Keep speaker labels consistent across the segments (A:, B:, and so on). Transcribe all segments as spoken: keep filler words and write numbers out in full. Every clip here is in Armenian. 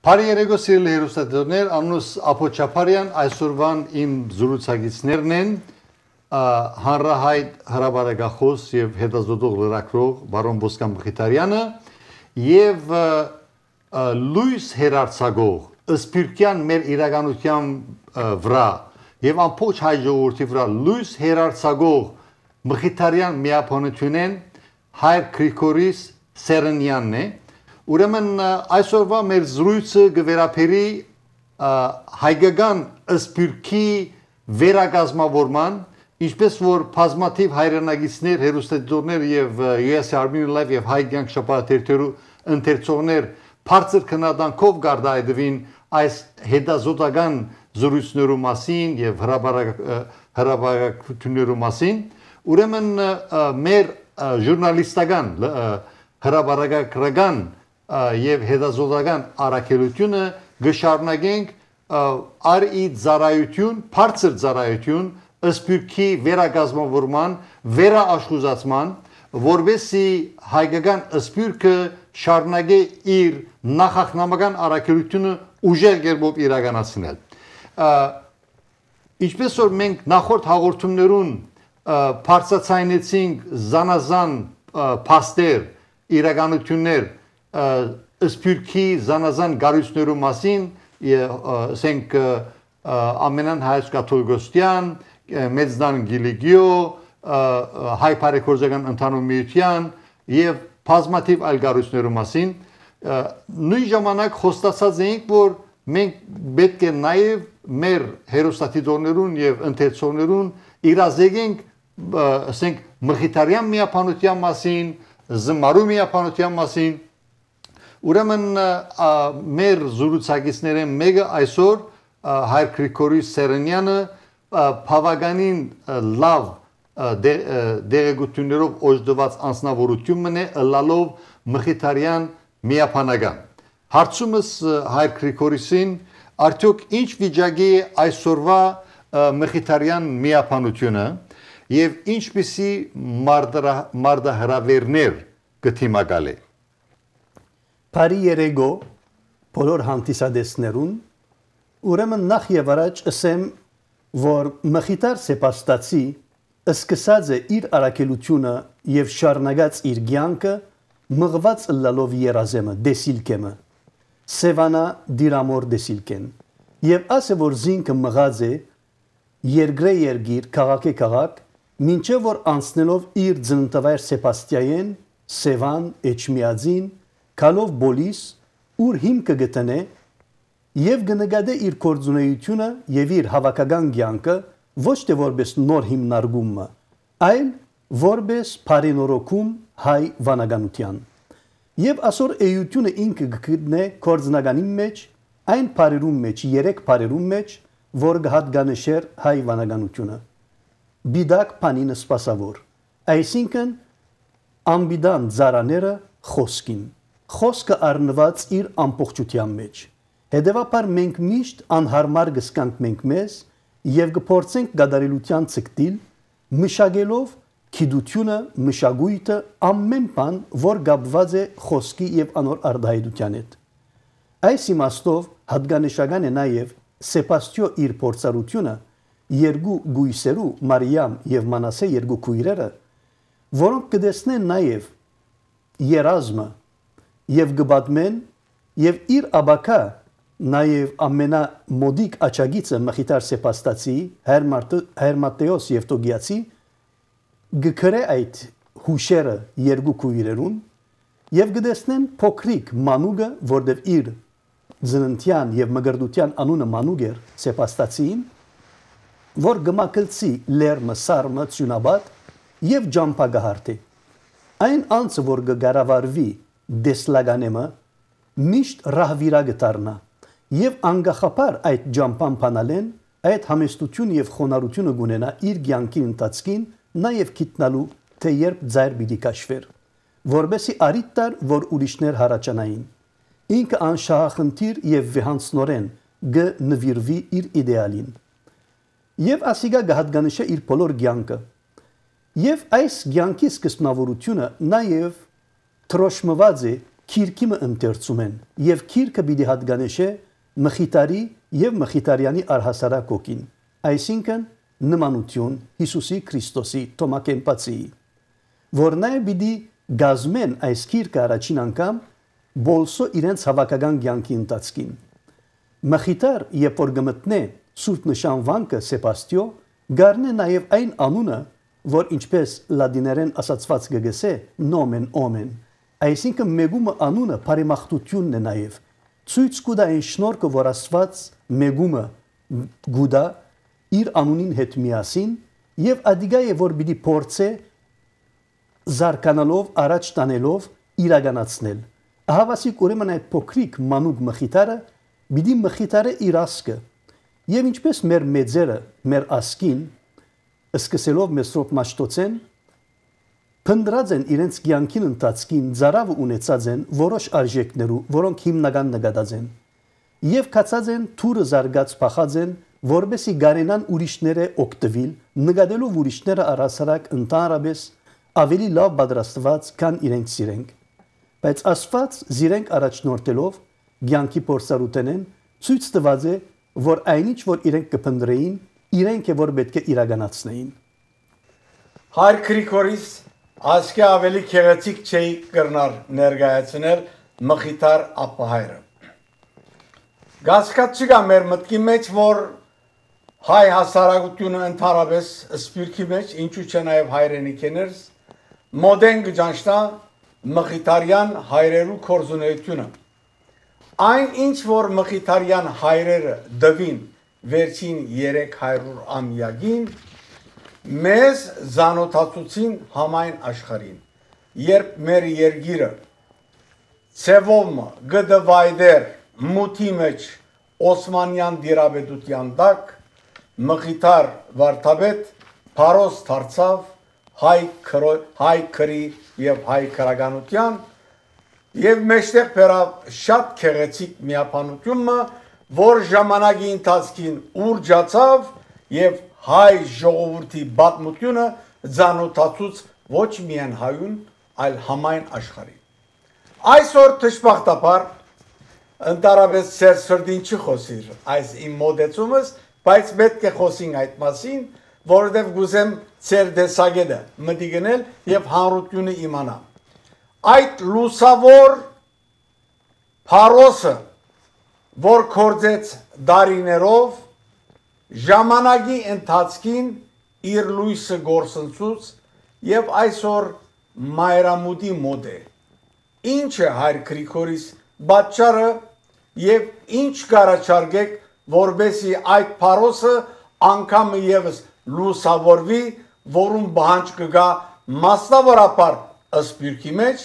A: Բարի երեկո սիրելի հեռուստադիտողներ, անունս Ափո Չապարյան, այսօրվան իմ զրուցակիցներն են հանրահայտ հրապարակախոս եւ հետազոտող լրագրող բարոն Ոսկան Մխիթարյանը եւ լույս հերարցակող սպիրկյան մեր իրականության վրա եւ ամբողջ հայ ժողովրդի վրա լույս հերարցակող Մխիթարյան միապանությունեն Հայր Գրիգորիս Սերենյանն է Ուրեմն այսօրվա մեր զրույցը գվերապերի հայկական սպիրկի վերակազմավորման, ինչպես որ բազմաթիվ հայրենագիցներ, հեռուստադիտողներ եւ յու էս Armenian Live եւ հայ կյանք շաբաթերթերու ընթերցողներ բարձր քննադանքով գարդայդվին այս հետազոտական զրույցներու մասին եւ հրապարակություններու մասին, ուրեմն մեր ժուրնալիստական հրապարակագրական եւ հետազոտական առաքելությունը գշարունակենք արի ծառայություն, բարձր ծառայություն սպիրկի վերակազմավորման, վերաաշխուզացման, որովհետեւ հայկական սպիրկը շարունակե իր նախախնամական առաքելությունը ուժեղ կերպով իրականացնել։ Ինչպես որ մենք նախորդ հաղորդումներուն բարձրացնեցինք զանազան փաստեր, իրականություններ սպիրկի զանազան գարույցներու մասին, ասենք ամենան հայոց կաթողիկոսության, մեծնան գիլիգիո, հայ բարեգործական ընդհանուր միության եւ բազմաթիվ այլ գարույցներու մասին, նույն ժամանակ խոստացած էինք, որ մենք պետք է նաեւ մեր հեռուստադիտողներուն եւ ընթերցողներուն իրազեկենք, ասենք Մխիթարյան միապանության մասին, Զմարու միապանության մասին, ուրեմն մեր զրուցակիցներեն մեկը այսօր Հայր Գրիգորիս Սերենյանը բավականին լավ դեղեցություններով օժտված անձնավորություն է ըլլալով Մխիթարյան միապանական։ Հարցումս Հայր Գրիգորիսին արդյոք ինչ վիճակի է այսօրվա Մխիթարյան միապանությունը եւ ինչպիսի մարդահրավերներ գտիմակալ է։
B: Բարի երեկո բոլոր հանդիսադեսներուն, ուրեմն նախ եւ առաջ ասեմ, որ Մխիթար Սեպաստացի սկսած է իր առաքելությունը եւ շարունակած իր կյանքը մղված ըլլալով երազեմը, դեսիլկեմը, Սևանա դիրամոր դեսիլկեն։ Եվ ասե որ զինքը մղած է երկրե երկիր, քաղաք է քաղաք, մինչև որ անցնելով իր ծննդավայր Սեպաստիայեն, Սևան, Էջմիածին, Քալով Բոլիս, ուր հիմքը գտնե եւ կնկատե իր կորձունեությունը եւ իր հավաքական կյանքը ոչ թե որպես նոր հիմնարկումը, այլ որպես բարենորոգում հայ վանականության։ Եվ ասոր էությունը ինքը գտնե կորձնականի մեջ, այն բարերում մեջ, երեք բարերում մեջ, որ կհատկանշեր հայ վանականությունը։ Բիդակ փանինը սպասավոր, այսինքն ամբիդան ծառաները խոսքին, խոսքը առնված իր ամբողջության մեջ։ Հետևաբար մենք միշտ անհարմար կսկանք մենք մեզ եւ կփորձենք գադարելության ցկտիլ, մշակելով քիդությունը, մշակույթը, ամեն բան, որ գաբված է խոսքի եւ անոր արդահայտության հետ։ Այս իմաստով հատկանշական է նաեւ Սեպաստիո իր փորձառությունը երկու գույսերու Մարիամ եւ Մանասե երկու քույրերը, որոնք կդեսնեն նաեւ երազմը եւ գբատմեն եւ իր աբակա նաեւ ամենամոդիկ աչագիծը Մխիթար Սեպաստացի Հերմատեոս Եվտոգիացի գկրե այդ հուշերը երկու քույրերուն եւ գդեսնեն փոքրիկ մանուկը, որտեւ իր ծննդյան եւ մգրդության անունը մանուկ էր Սեպաստացին, որ գմակլցի լերմը սարմը ծյունաբատ եւ ջամփագահարտի։ Այն անձը, որ գարավարվի դեսլագանեմը, միշտ ռահվիրագ դառնա եւ անգախապար այդ ջամփան փանալեն, այդ համեստություն եւ խոնարհությունը գունենա իր կյանքի ընթացքին, նաեւ գիտնալու թե երբ ձայր պիտի կաշվեր, որբեսի արիտ տար, որ ուրիշներ հարաճանային։ Ինքը անշահախնդիր եւ վեհանցնորեն գ նվիրվի իր իդեալին։ Եվ ասիգա գահատկանիշը իր բոլոր կյանքը։ Եվ այս կյանքի սկզբնավորությունը նաև թրոշմված է քիրքիմը ընթերցում են եւ քիրքը պիտի հատկանեշե մխիթարի եւ մխիթարյանի առհասարակ ոգին, այսինքն նմանություն Հիսուսի Քրիստոսի Թոմակեմպացի, որ նաեւ պիտի գազմեն այս քիրքը առաջին անգամ բոլսո իրենց հավաքական կյանքի ընթացքին։ Մխիթար, երբ որ գմտնե Սուրբ նշանվանքը Սեբաստիո, գարնե նաեւ այն անունը, որ ինչպես լադիներեն ասացված գգեսե նոմեն օմեն, այսինքն մեգումը անունը բարեմաղթությունն է նաեւ, ցույց կուտա այն շնորհքը, որ Աստված մեգումը գուտա իր անունին հետ միասին եւ ադիգա է որ պիտի փորձե զարկանալով առաջ տանելով իրականացնել։ Ահավասիկ ուրեմն այդ փոքրիկ մանուկ մխիթարը պիտի մխիթարը իր ասկը եւ ինչպես մեր մեծերը մեր ասկին սկսելով Մեսրոպ Մաշտոցեն փնդրած են իրենց կյանքին ընթացքին ծարավը ունեցած են որոշ արժեքներու, որոնք հիմնական նկատած են եւ կացած են թուրը զարգած փախած են, որբեսի գարենան ուրիշները օգտվել, նկատելով ուրիշները առասարակ ընդհանրապես ավելի լավ պատրաստված, քան իրենք սիրենք։ Բայց Աստված զիրենք առաջնորդելով կյանքի փորձառութենեն ցույց տված է, որ այնինչ որ իրենք կփնդրեին, իրենք է որ պետք է իրականացնեին։
C: Հայր Գրիգորիս ասկե ավելի քեղեցիկ չի կրնար ներկայացնել մխիթար ապահայրը։ Գասկացի կա մեր մտքի մեջ, որ հայ հասարակությունը ընդհանրապես սպիրկի մեջ, ինչու՞ չէ նաև հայրենիքներս, մոդեն գճանշտա մխիթարյան հայրերու կորզունեությունը։ Այն ինչ որ մխիթարյան հայրերը դվին վերջին երեք հարյուր ամյակին, մեզ զանոթացուցին համայն աշխարհին, երբ մեր երգիրը ցևոմ գդվայդեր մութի մեջ Օսմանյան դիրաբեդության տակ մխիթար վարդապետ Փարոս դարձավ հայ հայ քրի եւ հայ քրագանության եւ մեջտեղ բերավ շատ քեղեցիկ միապանությունը, որ ժամանակի ընթացքին ուրջացավ եւ հայ ժողովրդի պատմությունը զանոթացուց ոչ միայն հայուն, այլ համայն աշխարհին։ Այսօր դժբախտաբար ընդառաջ ծեր սրդին չի խոսիր այս իմ մոդեցումս, բայց պետք է խոսենք այդ մասին, որովհետև գուզեմ ծեր դեսագետը մտի գնել եւ հանրությունը իմանա։ Այդ լուսավոր Փարոսը, որ կործեց դարիներով, ժամանակի ընթացքին իր լույսը գործընծուց եւ այսօր մայրամուտի մոդ է։ Ինչ է հայր Գրիգորիս պատճառը եւ ինչ կարաչարգեք, որբեսի այդ Փարոսը անգամ եւս լուսավորվի, որում բանջ կգա մասնավորապես ըսպիրքի մեջ,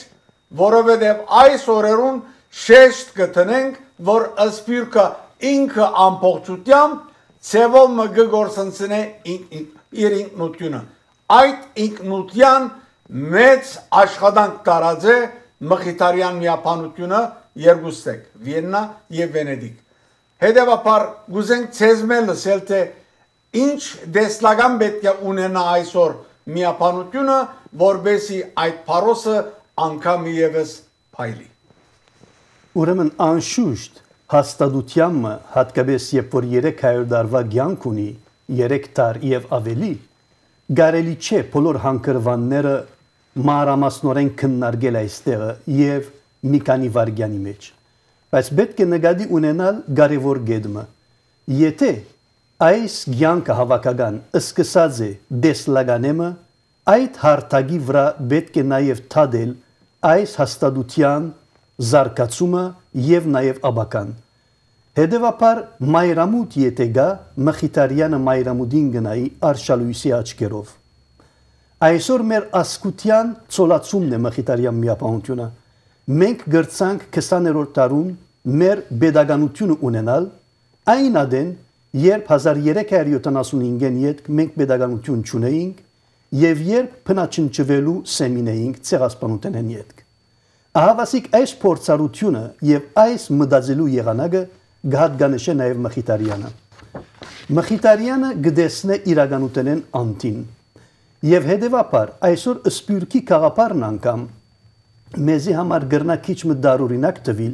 C: որովհետեւ այս օրերուն շեշտ կտնենք, որ ըսպիրքը ինքը ամբողջությամբ ցևոմ գգործընծնե իր ինքնությունը։ Այդ ինքնության մեծ աշխատանք տարած է մխիթարյան միապանությունը երկուստեք, Վիեննա եւ Վենեդիկ։ Հետևաբար գուզենք ցեզմել լսել թե ինչ դեսլական պետք է ունենա այսօր միապանությունը, որբեսի այդ Փարոսը անգամ եւս փայլի։
B: Ուրեմն անշուշտ հաստատությամը հատկապես երբ որ երեք հարյուր տարվա կյանք ունի, երեք տար եւ ավելի, գարելի չէ բոլոր հանգրվանները մանրամասնորեն քննարկել այստեղը եւ մի քանի վայրկյանի մեջ։ Բայց պետք է նկատի ունենալ կարևոր գեդմը։ Եթե այս կյանքը հավաքական սկսած է դեսլականեմը, այդ հարթակի վրա պետք է նաեւ թադել այս հաստատության զարգացումը եւ նաեւ աբական։ Հետևաբար մայրամուտ եթե գա, մխիթարյանը մայրամուտին գնայի արշալույսի աչքերով։ Այսօր մեր ասկության ցոլացումն է մխիթարյան միապանությունը։ Մենք գրցանք քսաներորդ դարում մեր pedagoganությունը ունենալ, այն ադեն, երբ հազար երեք հարյուր յոթանասունհինգին յետք մենք pedagoganություն չունեինք եւ երբ փնաչնչվելու սեմինեինք ցեղասպանութենեն յետք։ Ահավասիկ այս փորձառությունը եւ այս մտածելու եղանակը գահատգանեշե նաեւ մխիթարյանը։ Մխիթարյանը գտեսնե իրականութենեն անտին եւ հետեւաբար այսօր սպյուրքի խաղապարն անգամ մեզի համար գրնակիչ մը դարուրինակ տվիլ,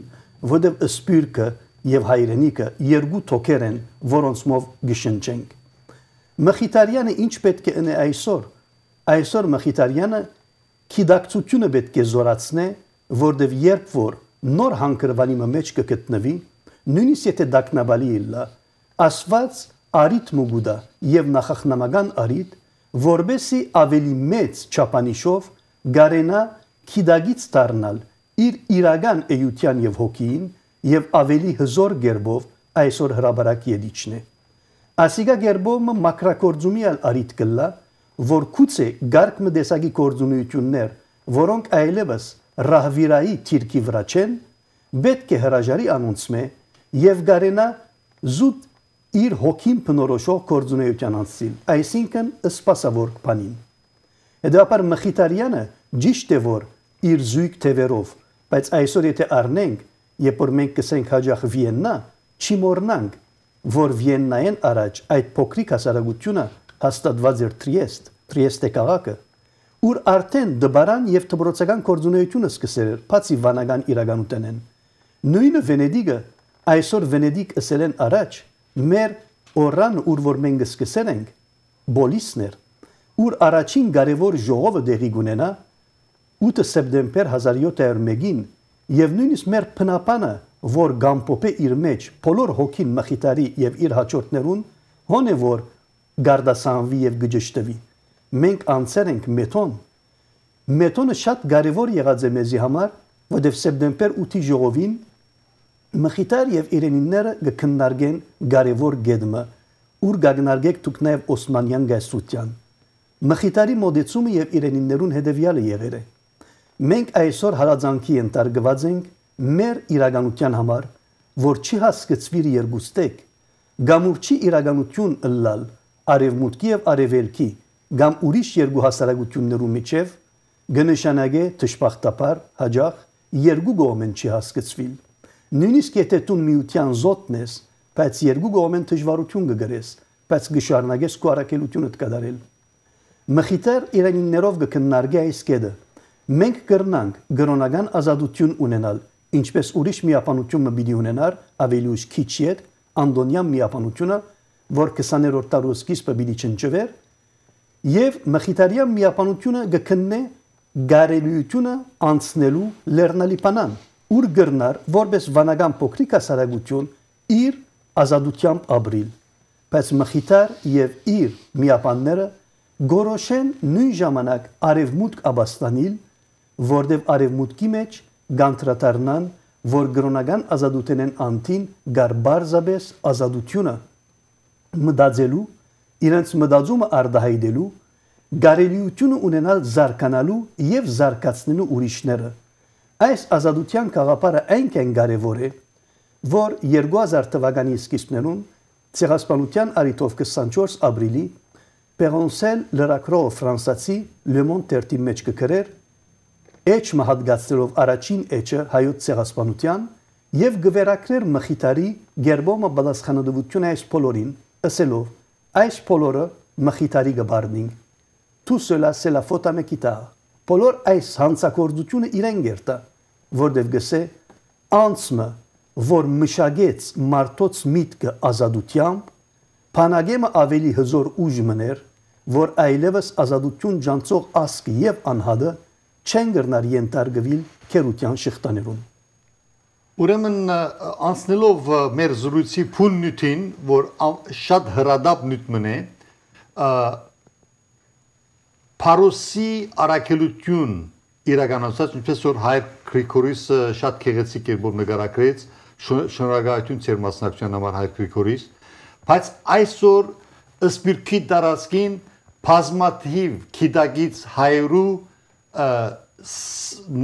B: որտև սպյուրքը եւ հայրենիքը երկու թոքեր են, որոնցմով գշնչենք։ Մխիթարյանը ինչ պետք է ընե այսօր։ Այսօր Մխիթարյանը քիդակցությունը պետք է զորացնե, որտև երբ որ նոր հանգրվանի մեջ կգտնվի, նույնիսկ եթե դակնաբալի իլլա, ասված արիտ մուգուդա եւ նախախնամական արիտ, որբեսի ավելի մեծ չափանիշով գարենա քիդագից դառնալ իր իրական էյության եւ հոգին եւ ավելի հզոր գերբով այսօր հրաբարակ յետիչն է։ Ասիգա գերբովը մակրակորձումի արիտ կլա, որ քուցե գարկ մդեսագի կորձունություններ, որոնք այլևս ռահվիրայի թիրքի վրա չեն, պետք է հրաժարի անոնցմե եւ գարենա զուտ իր հոգին բնորոշող կորձունեության անցիլ, այսինքն սպասավոր բանին։ Հետևաբար Մխիթարյանը ճիշտ է որ իր զույգ թևերով, բայց այսօր եթե առնենք, երբ որ մենք կսենք հաջող Վիեննա, չի մոռնանք, որ Վիեննայեն առաջ այդ փոքրիկ հասարակությունը հաստատված էր Տրիեստ, Տրիեստե քաղաքը, ուր արդեն դբարան եւ դբրոցական կորձունեությունը սկսել էր, բացի վանական իրականութենեն։ Նույնը Վենեդիգը, այսօր Վենեդիգ ասել են առաջ, մեր օրան ուր որ մենք սկսել ենք, Բոլիսներ, ուր առաջին կարևոր ժողովը դեղի կունենա ութ սեպտեմբեր հազար յոթ հարյուր մեկին եւ նույնիսկ մեր փնապանը, որ գամփոփե իր մեջ բոլոր հոգին Մխիթարի եւ իր հաջորդներուն, հոնե որ գարդասանվի եւ գճշտվի։ Մենք անցել ենք մեթոն։ Մեթոնը շատ կարևոր եղած է մեզի համար, որովհետեւ սեպտեմբեր ութի ժողովին Մխիթար եւ իրենինները կքննարկեն կարևոր գեդմը, ուր կգնարկեք դուք նաեւ Օսմանյան գայսության։ Մխիթարի մոդեցումը եւ իրենիններուն հետեւյալը եղել է։ Մենք այսօր հարազանքի ենթարկված ենք մեր իրականության համար, որ չի հասկացվիր երկուստեք, գամուրչի իրականություն ըլլալ արևմուտքի եւ արևելքի, գամ ուրիշ երկու հասարակություններու միջև գնշանագե դժբախտաբար հաջող երկու կողմեն չի հասկացվիլ։ Նույնիսկ եթե դու միության զոթն ես, բայց երկու կողմեն դժվարություն կգրես, բայց գշարնագես քո առաքելությունդ կդարել։ Մխիթար իրանիներով կքննարկի այս կետը։ Մենք կրնանք գրոնական ազատություն ունենալ, ինչպես ուրիշ միապանությունը պիտի ունենար ավելի ուշ քիչ ետ անդոնյան միապանությունը, որ քսաներորդ դարու սկիզբը պիտի չնչվեր, եւ Մխիթարյան միապանությունը կքննե գարելիությունը անցնելու լեռնալիպանան, ուր գրնար որպես վանական փոքրիկ հասարակություն իր ազատությամբ ապրիլ, բայց Մխիթար եւ իր միապանները գորոշեն նույն ժամանակ արևմուտք աբաստանիլ, որտեղ արևմուտքի մեջ գանտրատարնան, որ գրոնական ազատութենեն անտին գարբարզաբես ազատությունը մտածելու, իրենց մտածումը արդահայտելու, գարելիությունը ունենալ զարգանալու եւ զարգացնելու ուրիշները։ Այս ազատության գաղափարը այնքան կարևոր է, որ երկու հազար թվականի սկիզբներում ցեղասպանության արիտով քսանչորս ապրիլի Պերոնսել լրագրող ֆրանսացի Le Monde թերթի մեջ կգրեր էջ մահատգացնելով առաջին էջը հայոց ցեղասպանության եւ գվերակրեր Մխիթարի գերբոմը բացխանադվություն այս բոլորին, ասելով այս բոլորը Մխիթարի գբարնին։ Tout cela c'est la faute à Mekhitar։ Բոլոր այս հանցակործությունը իրեն գերտա, որտեղ գսե անցմը, որ մշակեց մարդոց միտքը ազատությամբ, Փանագեմը ավելի հզոր ուժ մներ, որ այլևս ազատություն ջանցող ասկը եւ անհադը չեն գրնար ենթարկվել քերության շղթաներում։
A: Ուրեմն անցնելով մեր զրույցի փուն նյութին, որ շատ հրադապ նյութ է, Փարոսի առաքելություն իրականացած, ինչպես որ Հայր Գրիգորիսը շատ քեղեցիկ կերպով նկարագրեց, շնորհակալություն ծեր մասնակցության համար Հայր Գրիգորիս, բայց այսօր սպիրկի տարածքին բազմաթիվ քիդագից հայրու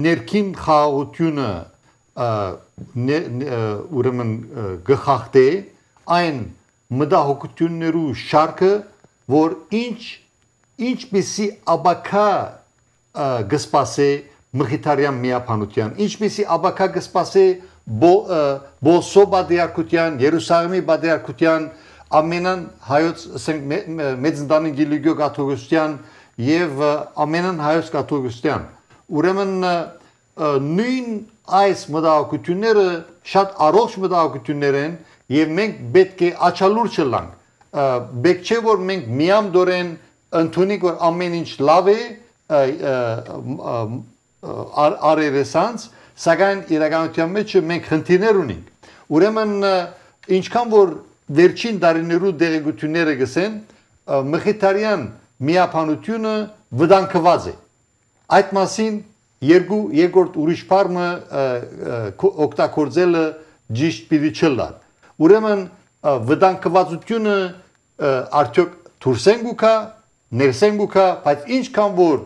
A: ներքին խաղաղությունը ուրեմն գխախտե այն մտահոգություններու շարքը, որ ինչ ինչպիսի աբակա գսպասե Մխիթարյան միապանության, ինչպիսի աբակա գսպասե Բոսո բادرակության, Երուսաղեմի բادرակության, ամենան հայոց մեծ ընտանիք Գիլիգիո կաթողիկոսության եւ ամենան հայոց կաթողիկոսության։ Ուրեմն նույն այս մտահոգությունները շատ առողջ մտահոգություններ են եւ մենք պետք է աչալուրջ լանք պետք չէ որ մենք միամդորեն ընդունենք որ ամեն ինչ լավ է արերեսանց սակայն իրականության մեջ մենք խնդիրներ ունենք ուրեմն ինչքան որ վերջին տարիներու դեղեցությունները գսեն մխիթարյան միապանությունը վտանգված է այդ մասին երկու երկրորդ ուրիշ բառը օգտագործելը ճիշտ պիտի չլար ուրեմն վտանգվածությունը արդյոք դուրսեն գուքա ներսեն գուքա բայց ինչքան որ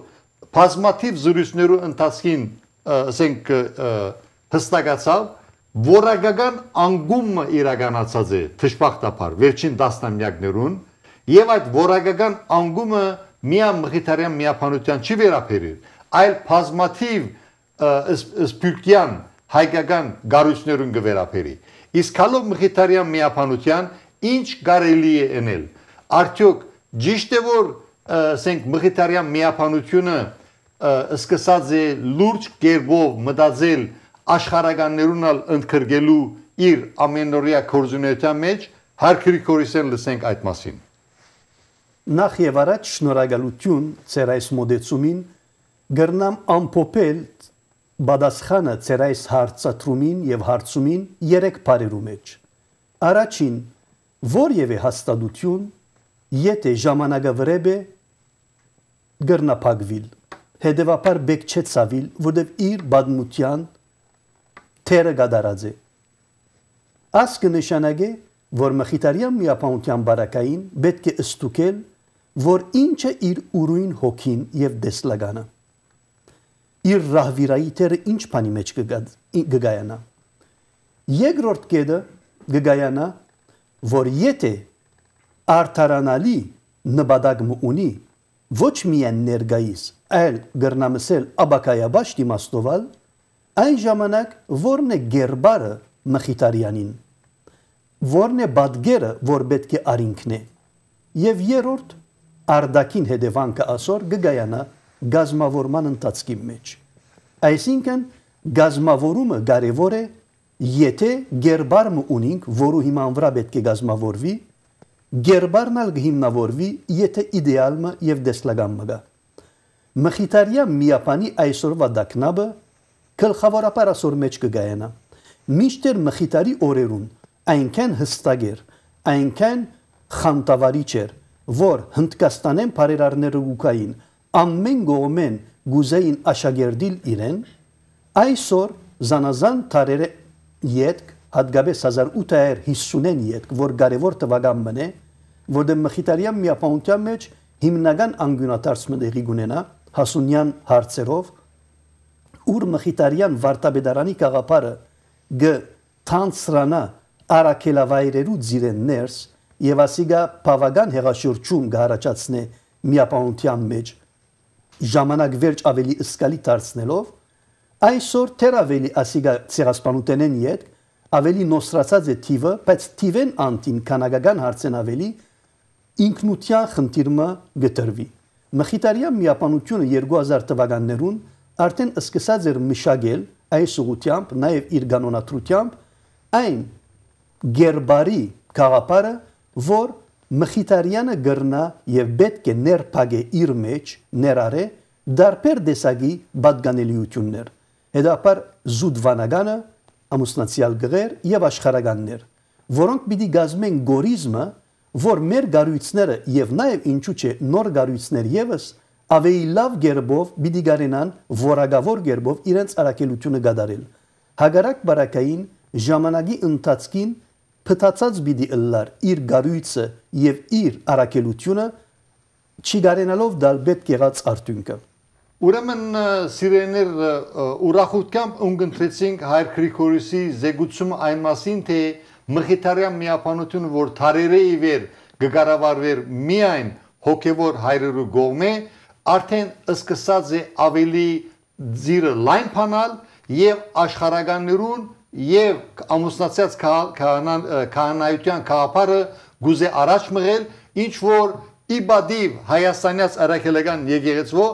A: բազմաթիվ զրույցներու ընթացքին ասենք հստակացավ որակական անգումը իրականացած է թշպախտապար վերջին տասնամյակներուն եւ այդ որակական անգումը միայն մխիթարյան միապանության չի վերաբերիր այլ բազմաթիվ սպյուրքյան հայկական գարույցներուն կվերաբերի իսկ հալով մխիթարյան միապանության ինչ կարելի է անել արդյոք ճիշտ է որ ասենք մխիթարյան միապանությունը սկսած է լուրջ կերպով մտածել աշխարհականներուն ընդգրկելու իր ամենօրյա գործունեության մեջ հարկերի կորիսեն լսենք այդ մասին
B: Նախ եւ առաջ շնորհակալություն ծեր այս մոդեցումին գրնամ ամփոփել բադասխանը ծեր այս հարցատրումին եւ հարցումին երեք բարերու մեջ առաջին որևէ հաստատություն եթե ժամանակը վրեբ է գրնապակվիլ հետևաբար բեք չէ ցավիլ որովհետեւ իր բադմության թերը գդարած է աս կնշանակե որ մխիթարյան միապանության բարակային պետք է ստուկել որ ինչը իր ուրույն հոգին եւ դեսլագանը իր ռահվիրայի թերը ինչ բանի մեջ կգայանա երկրորդ կետը կգայանա որ եթե արդարանալի նպատակ ունի ոչ միայն ներգայիս այլ գրնամսել աբակայաբաշտ իմաստովալ այն ժամանակ որն է գերբարը մխիթարյանին որն է բադգերը որ պետք է արինքն է եւ երրորդ արդակին հետևանքը ասոր գգայանա գազմավորման ընթացքի մեջ այսինքն գազմավորումը կարևոր է եթե գերբարը ունենք որու հիման վրա պետք է գազմավորվի գերբարն ալ հիմնավորվի եթե իդեալը եւ դեսլագամը գա մխիթարյան միապանի այսօրվա դակնաբը գլխավորապես ասոր մեջ կգայանա միշտեր մխիթարի օրերուն այնքան հստակ էր այնքան խանտավարիչ էր որ հնդկաստանեն բարերարները գուկային ամեն գոմեն գուզեին աշակերտիլ իրեն այսօր զանազան տարերը յետք հատկապես հազար ութ հարյուր հիսունին յետք որ կարևոր տվական մնե որը մխիթարյան միապանության մեջ հիմնական անգյունատարածքը դեղի գունենա հասունյան հարցերով ուր մխիթարյան վարտաբեդարանի կաղապարը գ թանցրանա արաքելավայրերու ձիրեն ներս եւ ասիգա բավական հեղաշրջում գարաճացնե միապանության մեջ ժամանակ վերջ ավելի սկալի դարձնելով այսօր թեր ավելի ասիգա ցեղասպանութենեն յետ ավելի նոսրացած է թիվը բայց թիվեն անտին կանագական հարցեն ավելի ինքնության խնդիրը գտրվի մխիթարյան միապանությունը երկու հազար թվականներուն արդեն սկսած էր մշակել այս ուղությամբ նաև իր կանոնադրությամբ այն գերբարի կաղապարը որ մխիթարյանը գրնա եւ պետք է ներփագե իր մեջ ներարե դարբեր դեսագի բադգանելիություններ հետապար զուդվանագանը ամուսնացիալ գղեր եւ աշխարհականներ որոնք պիտի գազմեն գորիզմը որ մեր գարույցները եւ նաեւ ինչու՞ չէ նոր գարույցներ եւս ավելի լավ գերբով պիտի գարենան որակավոր գերբով իրենց արակելությունը գդարել հագարակ բարակային ժամանակի ընթացքին փտացած պիտի ըլլար իր գարույցը եւ իր արակելությունը չի գարենալով դալ պետք եղած արդյունքը
A: ուրեմն սիրեներ ուրախությամբ ունգընտրեցինք Հայր Գրիգորյոսի զեկուցումը այն մասին թե մխիթարյան միապանությունը որ թարերը ի վեր գկառավարվեր միայն հոգևոր հայրերու կողմէ արդեն սկսած է ավելի ձիրը լայն փանալ եւ աշխարհականներուն եւ ամուսնացած քահանայության կաղապարը գուզե առաջ մղել ինչ որ իբադիվ հայաստանյաց արաքելական եկեղեցվո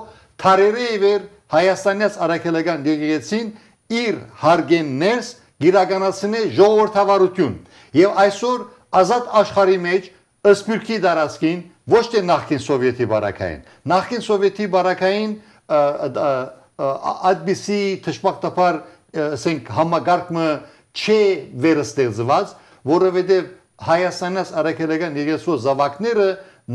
A: թարերը ի վեր Հայաստանյաց Արաքելական եկեղեցին իր հարգեններս գիրականացնե ժողովրդավարություն եւ այսօր ազատ աշխարհի մեջ ըսպիրքի դարածքին ոչ թե նախկին սովետի բարակային նախկին սովետի բարակային այդպիսի թշպակտապար ասենք համագարկը չէ վերստեղծված որովհետեւ Հայաստանյաց Արաքելական եկեղեցու զավակները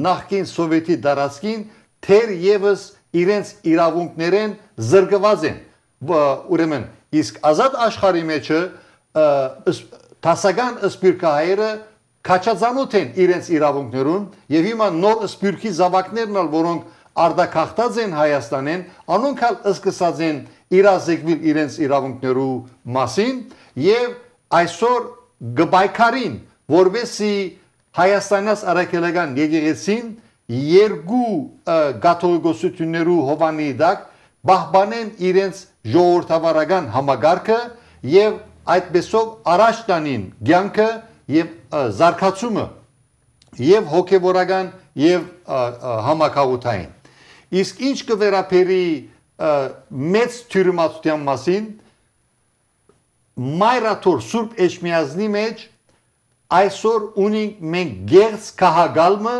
A: նախկին սովետի դարածքին թեր եւս իրենց իրավունքներեն զրկված են ուրեմն իսկ ազատ աշխարհի մեջը տասական ըսպիրքահայերը քաչածանոթ են իրենց իրավունքներուն եւ հիմա նոր ըսպիրքի զավակներն ալ որոնք արդակախտած են Հայաստանեն անոնք ալ սկսած են իրազեկվել իրենց իրավունքներու մասին եւ այսօր գբայքարին որովհետեւ Հայաստանյաց Արաքելական եկեղեցին երկու գաթողիկոսություններու հովանի դակ բահբանեն իրենց ժողովրդավարական համագարկը եւ այդպեսով առաջ տանին ցանկը եւ զարգացումը եւ հոգեվորական եւ համակարգային իսկ ինչ կվերապերի մեծ թյուրիմացության մասին մայրաթոր Սուրբ Էջմիածնի մեջ այսօր ունենք մենք գերց քահագալմը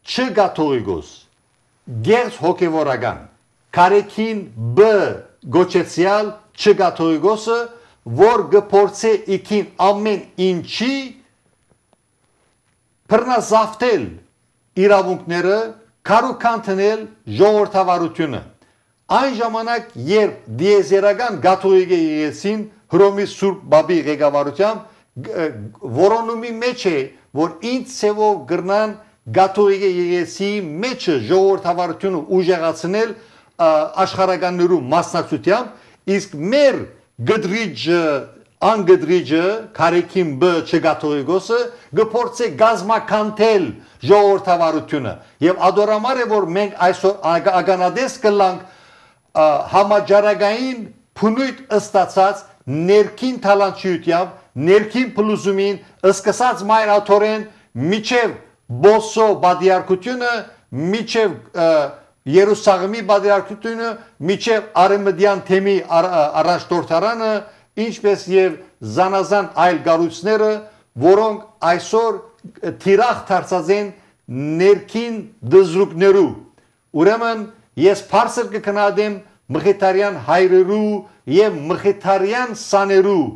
A: չգաթողիկոս գերց հոգեվորական կարեկին բ գոչեցյալ չգաթողիկոսը որ գփորձե իքին ամեն ինչի բռնազավթել իրավունքները քարոքանտնել ժողովրդավարությունը այն ժամանակ երբ դիեզերական գաթողիկ եկեղեցին Հռոմի Սուրբ Բաբի ղեկավարությամբ որոնումի մեջ է որ ինչ ցևով գրնան գաթողիկ եկեղեցի մեջը ժողովրդավարությունը ուժեղացնել աշխարհականներու մասնակցությամբ իսկ մեր գդրիջը անգդրիջը կարեկին բ չգաթողիկոսը գփորձե գազմականթել ժողովրդավարությունը եւ ադորամար է որ մենք այսօր ագանադես կլանք համաճարակային փնույթ ըստացած ներքին թալանչությամբ ներքին փլուզումին սկսած մայրաթորեն միջև բոսո բادرարկությունը միջև Երուսաղեմի բادرարկությունը միջև արեմդյան թեմի առաջնորդարանը ինչպես եւ զանազան այլ գառույցները որոնք այսօր թիրախ դարձած են ներքին դզրուկներու ուրեմն ես բարձր կքննադեմ մխիթարյան հայրերու եւ մխիթարյան սաներու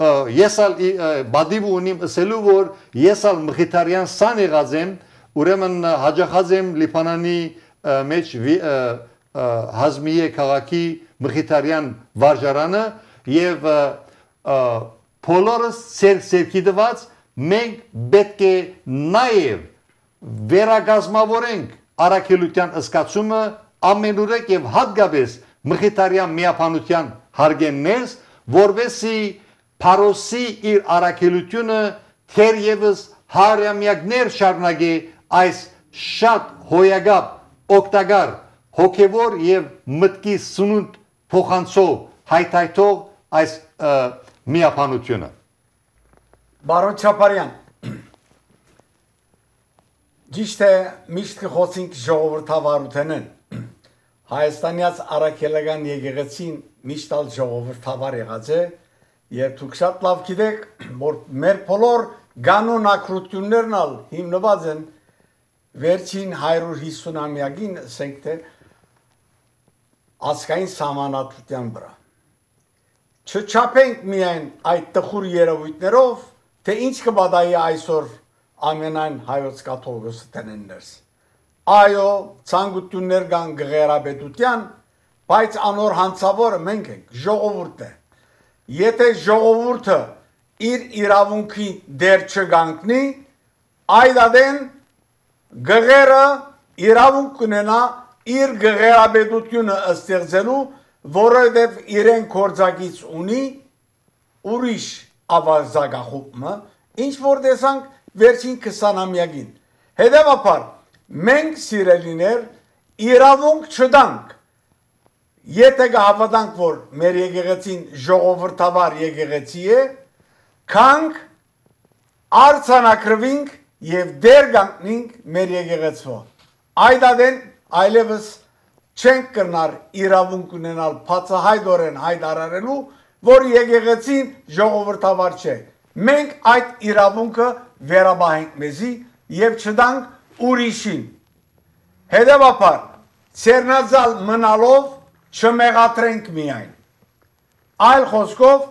A: ես ալ բադիվ ունիմ ասելու որ ես ալ մխիթարյան սան եղած եմ ուրեմն հաջախած եմ Լիբանանի մեջ հազմիե քաղաքի մխիթարյան վարժարանը եւ բոլորս սերքի դված մենք պետք է նաեւ վերագազմավորենք առաքելության ըսկացումը ամենուրեք եւ հատկապես մխիթարյան միապանության հարգեններս որովհետեւ Փարոսի իր առաքելությունը թերևս հարյամյակներ շարունակի այս շատ հոյագապ օգտակար հոգևոր եւ մտքի սնունդ փոխանցող հայթայթող այս միապանությունը
C: Բարոն Չապարյան Ճիշտ է միշտ կխոսենք ժողովրդավարութենեն Հայաստանյաց Արաքելական եկեղեցին միշտ ալ ժողովրդավար եղած է եւ դուք շատ լավ գիտեք որ մեր բոլոր կանոնակրություններն ալ հիմնված են վերջին հարյուր հիսուն-ամյակին ասենք թե ազգային սահմանադրության վրա չչափենք միայն այդ տխուր երևույթներով թե ինչ կբադայի այսօր ամենայն հայոց կաթողիկոս տնեններս այո ցանկություններ կան գղերաբեդության բայց անոր հանցավորը մենք ենք ժողովուրդն է Եթե ժողովուրդը իր իրավունքի դեր չգանքնի, այդադեն գղերը իրավունք կունենա իր գղերաբեդությունը ստեղծելու, որովհետև իրեն կորձակից ունի ուրիշ ավազագախումը, ինչ որ տեսանք վերջին քսանամյակին։ Հետևաբար մենք սիրելիներ իրավունք չտանք Եթե կհավատանք, որ մեր եկեղեցին ժողովրդավար եկեղեցի է, կանք արձանագրվինք և դեր գանքնինք մեր եկեղեցվո։ Այդ ադեն այլևս չենք կրնար իրավունք ունենալ բացահայտորեն հայտարարելու, որ եկեղեցին ժողովրդավար չէ։ Մենք այդ իրավունքը վերաբահենք մեզի եւ չտանք ուրիշին։ Հետևաբար, ցերնազալ մնալով չմեղատրենք միայն։ Այլ խոսքով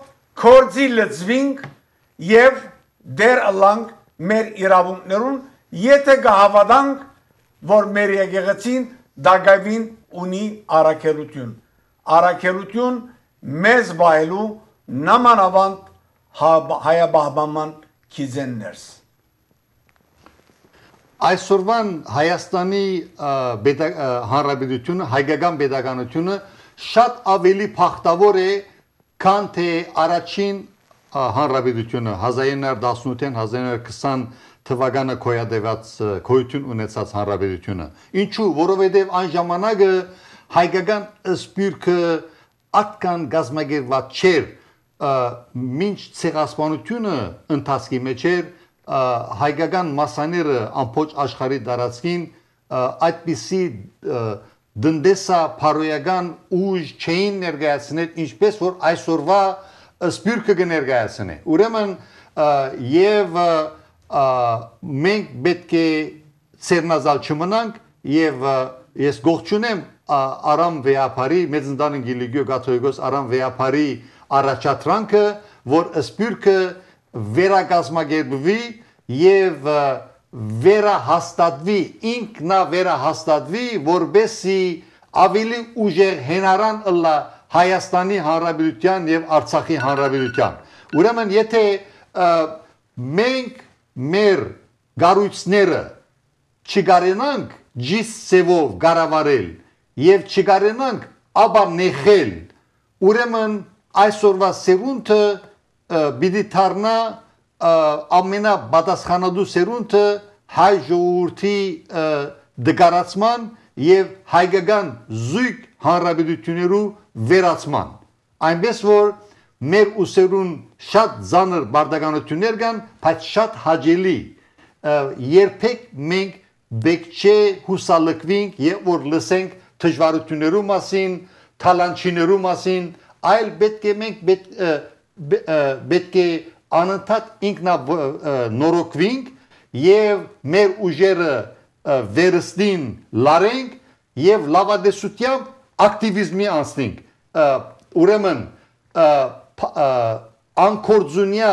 C: կորձի լծվինք եւ դեր ըլանք մեր իրավունքներուն, եթե կհավատանք, որ մեր եկեղեցին դակավին ունի առաքելություն։ Առաքելություն մեզ բայելու նամանավանդ հայաբահբաման քիզեններս։
A: Այսօրվան Հայաստանի հանրապետությունը, հայկական պետականությունը շատ ավելի փախտավոր է, քան թե առաջին հանրապետությունը հազար ինը հարյուր տասնութ հազար ինը հարյուր քսան թվականը գոյատևած գոյություն ունեցած հանրապետությունը։ Ինչու՞, որովհետև այն ժամանակը հայկական սպիրկը ատկան գազմագերված չէր, մինչ ցեղասպանությունը ընթացքի մեջ էր, հայկական մասաները ամբողջ աշխարհի տարածքին այդպիսի դնդեսա փարոյական ուժ չէին ներկայացնել, ինչպես որ այսօրվա սպիրկը կներկայացնի։ Ուրեմն եւ մենք պետք է ցերնազալ չմնանք եւ ես գողջունեմ Արամ Վեապարի մեծ ընտանիք Գիլիգիո Կաթողիկոս Արամ Վեապարի առաջադրանքը, որ սպիրկը վերակազմակերպվի եւ վերահաստատվի, ինքնա վերահաստատվի, որբեսի ավելի ուժեղ հենարան ըլլա Հայաստանի Հանրապետության եւ Արցախի Հանրապետության։ Ուրեմն եթե մենք մեր գառույցները չգարենանք ջիս ծևով գարավարել եւ չգարենանք ապա նեղել, ուրեմն այսօրվա սերունդը պիտի դառնա ամենապատասխանատու սերունդը հայ ժողովրդի դգարացման եւ հայկական զույգ հանրապետություններու վերացման։ Այնպես որ մեր ուսերուն շատ ծանր բարդականություններ կան, բայց շատ հաճելի երբեք մենք պետք չէ հուսալքվենք եւ որ լսենք դժվարություններու մասին, թալանչիներու մասին, այլ պետք է մենք պետք է անընդհատ ինքնա նորոգվենք եւ մեր ուժերը վերստին լարենք եւ լավադեսությամբ ակտիվիզմի անցնենք։ Ուրեմն անկորձունյա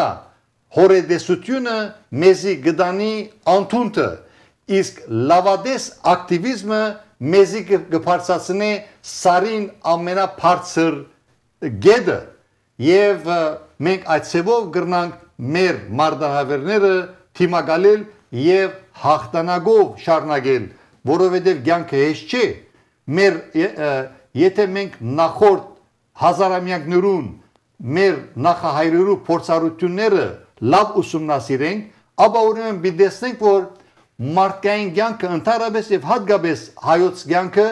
A: հորեդեսությունը մեզի գտանի անտունտը, իսկ լավադես ակտիվիզմը մեզի կբարձրացնի սարին ամենաբարձր գեդը եւ մենք այդ ծևով գրնանք մեր մարտահրավերները թիմակալել եւ հաղթանակով շարունակել, որովհետեւ կյանքը հեշտ չէ։ Մեր եթե մենք նախորդ հազարամյակներուն մեր նախահայրերու փորձառությունները լավ ուսումնասիրենք, ապա ուրեմն պիտի տեսնենք, որ մարդկային կյանքը ընդհանրապես եւ հատկապես հայոց կյանքը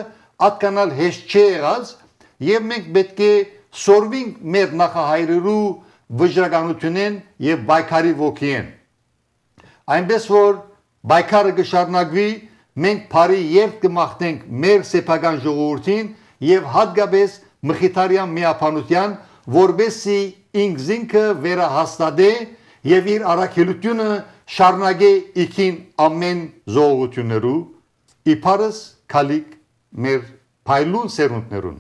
A: ատկանալ հեշտ չէ եղած եւ մենք պետք է սորվենք մեր նախահայրերու վճռականությունեն եւ բայկարի ոգին։ Այնպես որ բայկարը կշարունակվի, մենք բարի երթ կմաղթենք մեր սեփական ժողովրդին եւ հատկապես մխիթարյան միապանության, որբեսի ինքզինքը վերահաստատե եւ իր առաքելությունը շարունակե իքին ամեն ժողովություններու իբարս քալիք մեր փայլուն սերունդներուն։